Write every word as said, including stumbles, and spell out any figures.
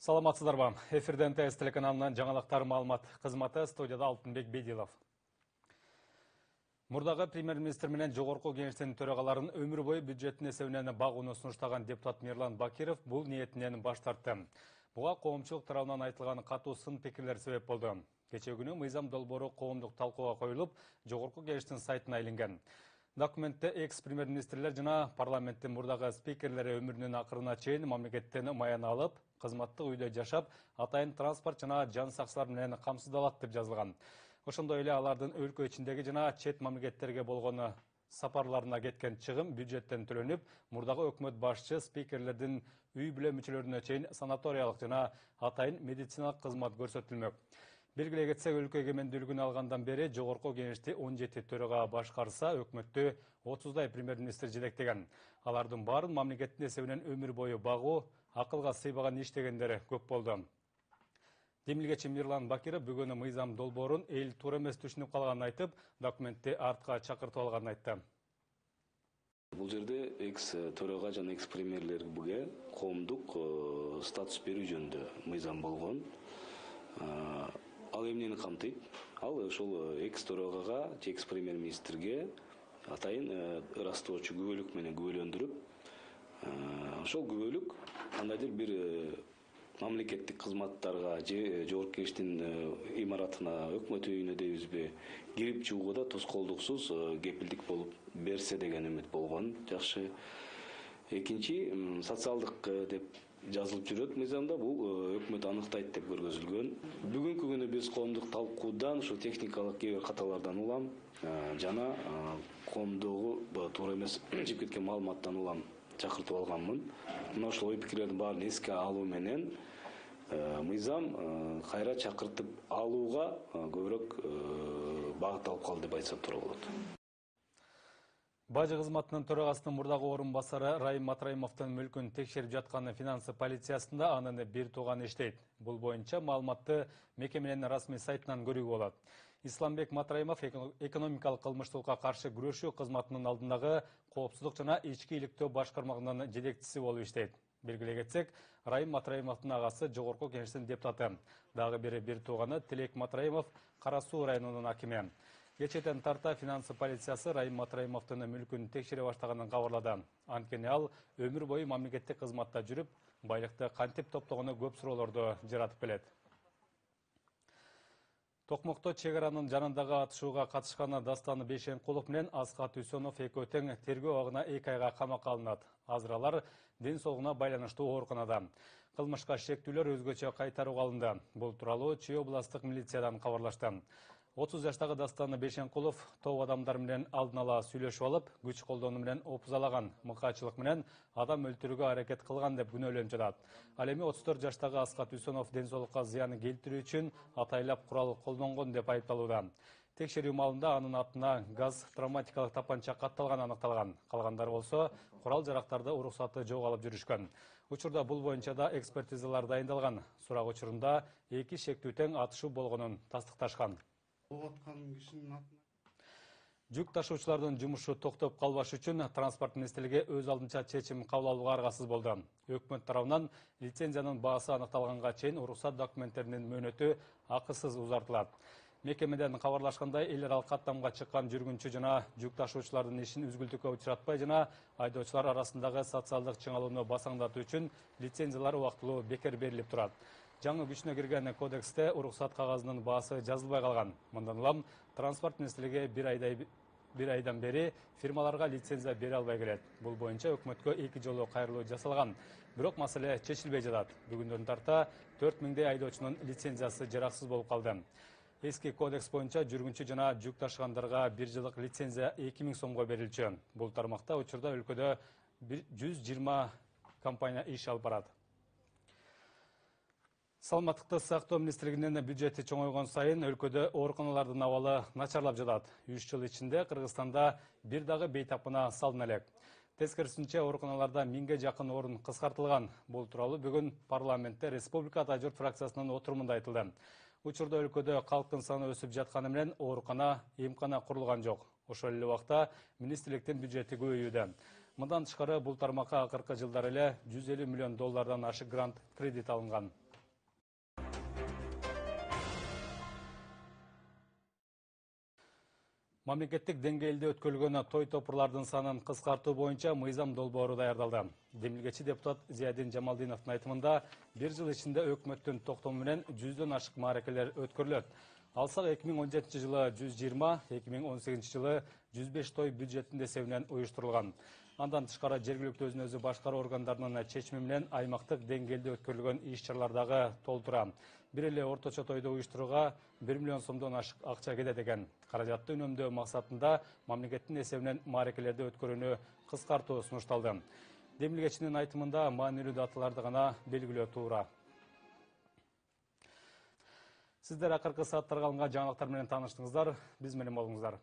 Саламатсыздарбы? Эфирден ТС телеканалынан жаңалыктар маалымат кызматы, студияда Алтынбек Бедилов. Мурдагы премьер-министр менен жогорку кеңештин төрагаларын өмүр бою бюджеттин эсебинен багууну сунуштаган депутат Мирлан Бакиров бул ниетинен баш тартты. Буга коомчулук тарабынан айтылган катуу сын пикирлер себеп болду. Кечээ күнү мыйзам долбоору коомдук талкууга коюлуп, жогорку кеңештин сайтына илинген. Документте экс-премьер-министрлер жана парламенттин мурдагы спикерлери өмүрүнүн акырына чейин мамлекеттен маяна алып, кызматтык үйдө жашап, атайын транспорт жана жан сакчылар менен камсыздалат деп жазылган. Ошондой эле алардын өлкө ичиндеги жана чет мамлекеттерге болгон сапарларына кеткен чыгым бюджеттен төлөнүп, мурдагы өкмөт башчы спикерлердин үй бүлө мүчөлөрүнө чейин санаториялык жана атайын медициналык кызмат көрсөтүлмөк. Белгилей кетсек, өлкө эгемендүүлүгүн алгандан бери жогорку кеңешти он жети төрага башкарса, өкмөттү отуздай премьер-министр жетектеген. Алардын баарын мамлекеттин эсебинен өмүр бою багуу, акылга сыйбаган иш дегендер көп болду. Демилгечи Мирлан Бакиров бүгүн мыйзам долбоорун эл туура эмес түшүнүп калганын айтып, документти артка чакыртып алганын айтты. Бул жерде экс төрага жана экс премьерлерге коомдук статус берүү жөнүндө мыйзам болгон. Ал эмнени камтыйт? Ал ошол экс төрагага, экс премьер-министрге атайын ырастоочу күбөлүк менен күбөлөндүрүп, ошол күбөлүк кандайдыр бир мамлекеттик кызматтарга же жогорку кеңештин имаратына, өкмөт үйүнө дейбизби, кирип чыгууда тоскоолдуксуз кепилдик болуп берсе деген үмүт болгон. Жакшы. Экинчи, социалдык деп жазылып жүрөт мыйзамда, бул өкмөт аныктайт деп көргөзүлгөн. Бүгүнкү күнү биз коомдук талкуудан ушул техникалык кээ бир каталардан улам жана коомдогу туура эмес чыгып кеткен маалыматтан улам чакыртып алганмын. Мына ошол ой пикирлердин баарын эске алуу менен мыйзам кайра чакыртып алууга көбүрөөк багытталып калды деп айтсак туура болот. Бажы кызматынын төрагасынын мурдагы орун басары Райым Матраимовдун мүлкүн текшерип жаткан финансы полициясында анын бир тууганы иштейт. Бул боюнча маалыматты мекеменин расмий сайтынан көрүүгө болот. Исламбек Матраимов экономикалык кылмыштуулукка каршы күрөшүү кызматынын алдындагы коопсуздук жана ички иликтөө башкармагынын жетекчиси болуп иштейт. Белгилей кетсек, Райым Матраимовдун агасы жогорку кеңештин депутаты. Дагы бири бир тууганы Тилек Матраимов Кара Суу районунун акими. Кечээден тарта финансы полициясы Райым Матраимовдун мүлкүн текшере баштаганын кабарлады. Анткени ал өмүр бою мамлекеттик кызматта жүрүп, байлыкты кантип топтогону көп суроолорду жаратып келет. Токмокто чек аранын жанындагы атышууга катышкан Дастан Бейшенкулов менен Аскат Үсөнов экөө тең тергөө абагына эки айга камакка алынат. Азыр алар ден соолугуна байланыштуу ооруканада. Кылмышка шектүүлөр өзгөчө кайтарууга алынды. Бул тууралуу Чүй областтык милициядан кабарлашты. отуз жаштагы Дастан Бейшенкулов топ адамдар менен алдын ала сүйлөшүп алып, күч колдонуу менен опузалаган, мыкаачылык менен адам өлтүрүүгө аракет кылган деп күнөөлөнүп жатат. Ал эми отуз төрт жаштагы Аскат Үсөнов ден соолукка зыян келтирүү үчүн атайлап курал колдонгон деп айыпталууда. Текшерүү маалында анын атына газ травматикалык тапанча катталган аныкталган. Калгандары болсо курал жарактарды уруксаты жок алып жүрүшкөн. Учурда бул боюнча да экспертизалар дайындалган. Сурак учурунда эки шектүү тең атышуу болгонун тастыкташкан. Жүк ташуучулардын жумушу токтоп калбаш үчүн транспорт министрлиги өз алдынча чечим кабыл алууга аргасыз болду. Өкмөт тарабынан лицензиянын баасы аныкталганга чейин уруксат документтеринин мөөнөтү акысыз узартылат. Мекемеден кабарлашкандай, эл аралык каттамга чыккан жүргүнчү жана жүк ташуучулардын ишин үзгүлтүккө учуратпай жана айдоочулар арасындагы социалдык чыңалууну басаңдатуу үчүн лицензиялар убактылуу бекер берилип турат. Жаңы күчүнө кирген кодексте уруксат кагазынын баасы жазылбай калган. Мындан улам транспорт министрлиги бир айдай бир айдан бери фирмаларга лицензия бере албай келет. Бул боюнча өкмөткө эки жолу кайрылуу жасалган. Бирок маселе чечилбей жатат. Бүгүндөн тарта төрт миңдей айдоочунун лицензиясы жараксыз болуп калды. Эски кодекс боюнча жүргүнчү жана жүк ташыгандарга бир жылдык лицензия эки миң сомго берилчү. Бул тармакта учурда өлкөдө жүз жыйырма компания иш алып барат. Саламаттыкты сактоо министрлигинин бюджети чоңойгон сайын өлкөдө ооруканалардын абалы начарлап жатат. үч жыл ичинде Кыргызстанда бир дагы бейтапына салына элек. Тескерисинче, ооруканаларда миңге жакын орун кыскартылган. Бул тууралуу бүгүн парламентте Республика Ата журт фракциясынын отурумунда айтылды. Учурда өлкөдө калктын саны өсүп жатканы менен оорукана, эмкана курулган жок. Ошол эле убакта министрликтин бюджети көбөйүүдө. Мындан тышкары бул тармакка акыркы жылдары эле жүз элүү миллион доллардан ашык грант кредит алынган. Мамлекеттик деңгээлде өткөрүлгөн той топурлардын санын кыскартуу боюнча мыйзам долбоору даярдалды. Демилгечи депутат Зиядин Жамалдиновдун айтымында бир жыл ичинде өкмөттүн токтому менен жүздөн ашык мааракелер өткөрүлөт. Алсак эки миң он жетинчи жылы жүз жыйырма, эки миң он сегизинчи жылы жүз беш той бюджеттин эсебинен уюштурулган. Андан тышкары жергиликтүү өзүн өзү башкаруу органдарынын чечими менен аймактык деңгээлде өткөрүлгөн иш-чаралар дагы толтура. Бир эле орточо тойду уюштурууга бир миллион сомдон ашык акча кетет экен. Каражатты үнөмдөө максатында мамлекеттин эсебинен мааракелерди өткөрүүнү кыскартуу сунушталды. Демилгечинин айтымында маанилүү даталарды гана белгилөө туура. Сиздер акыркы сааттарга алынган жаңылыктар менен тааныштыңыздар. Биз менен болуңуздар.